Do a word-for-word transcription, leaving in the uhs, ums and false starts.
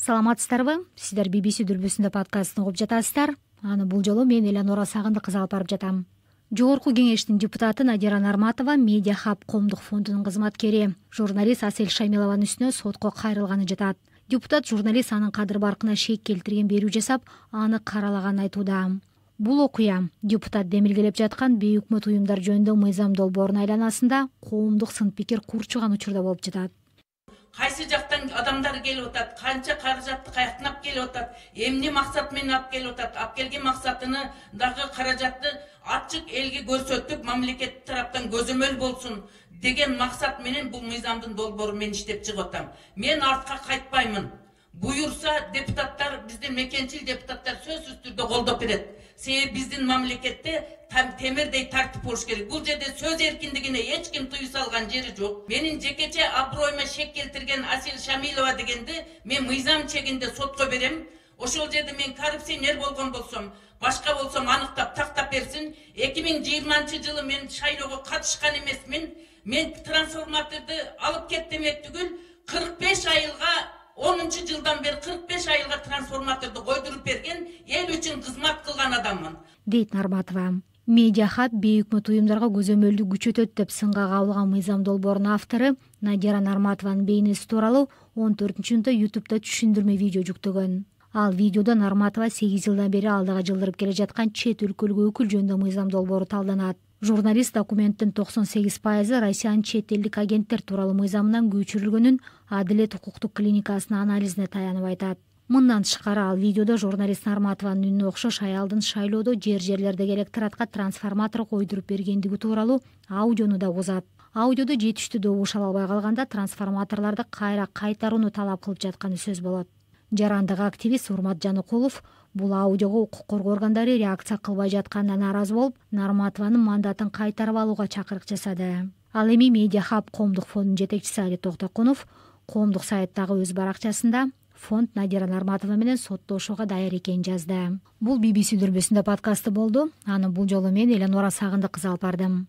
Саламатсыздарбы? Сиздер би би си дүрбүсүндө подкастын угуп жатасыздар. Аны бул жолу мен Эланора Сагындык кызы алып барып жатам. Жогорку кеңештин депутаты Надира Нарматова Медиа Хаб коомдук фондунун кызматкери, журналист Асель Шамилованын үстүнө сотко кайрылганы жатат. Депутат журналист анын кадыр баркына шек келтирген берүү жасап, аны каралаганын айтууда. Бул окуя депутат демилгелеп жаткан бейөкмөт уюмдар жөнүндө мыйзам долбоорунун айланасында коомдук сын пикир курчуган учурда болуп жатат. Кайсы жактан адамдар келип атат, канча каражатты каяктан алып келип атат, эмне максат менен алып келип атат, алып келген максатыны дагы каражатты ачык элге көрсөтүп, мамлекет тараптан көзөмөл болсун деген максат менен бул мыйзамдын долбоорун мен иштеп чыгып атам. Мен артка кайтпаймын. Буюрса депутаттар, биздин мекенчил депутаттар сөзсүз түрдө колдоп берет. Себеби биздин мамлекетте темирдей тартип болуш керек. Бул жерде сөз эркиндигине эч ким тыюу салган жери жок. Менин жекече аброюма шек келтирген Асель Шамилова дегенди мен мыйзам чегинде сотко берем. Ошол жерде мен коррупционер болгон болсом, башка болсом аныктап тактап берсин. эки миң жыйырманчы жылы мен шайлоого катышкан эмесмин. Мен трансформаторду алып кет демек түгүл, кырк беш айылга онунчу жылдан бери кырк беш айылга трансформаторду койдуруп берген, эл үчүн кызмат кылган адаммын, дейт Нарматова. Медиа Хаб бейөкмөт уюмдарга көзөмөлдү күчөтөт деп сынга кабылган мыйзам долбоорунун автору Надира Нарматованын бейнеси тууралуу он төртүнчү июнда ютубта түшүндүрмө видео жүктөгөн. Ал видеодо Нарматова сегиз жылдан бери алдыга жылдырып келе жаткан чет өлкөлүк өкүл жөнүндө мыйзам долбоору талданат. Журналист документтин токсон сегиз пайызы Россиянын чет элдик агенттер тууралуу мыйзамынан көчүрүлгөнүн Адилет укуктук клиникасынын анализине таянып айтат. Мындан тышкары ал видеодо журналист Нарматованын үнүнө окшош аялдын шайлоодо жер жерлердеги электоратка трансформатор койдуруп бергендиги тууралуу аудиону да узат. Аудиодо жетиштүү добуш ала албай калганда трансформаторлорду кайра кайтарууну талап кылып жатканы сөз болот. Жарандык активист Урмат Жаныкулов бул аудиого укук коргоо органдары реакция кылбай жатканына нааразы болуп, Нарматованын мандатын кайтарып алууга чакырык жасады. Ал эми Медиа Хаб коомдук фондунун жетекчиси Али Токтокунов коомдук сайттагы өз баракчасында фонд Надира Нарматова менен соттошууга даяр экенин жазды. Бул би би си дүрбүсүндө подкасты болду. Аны бул жолу мен Эланора Сагындык кызы алып бардым.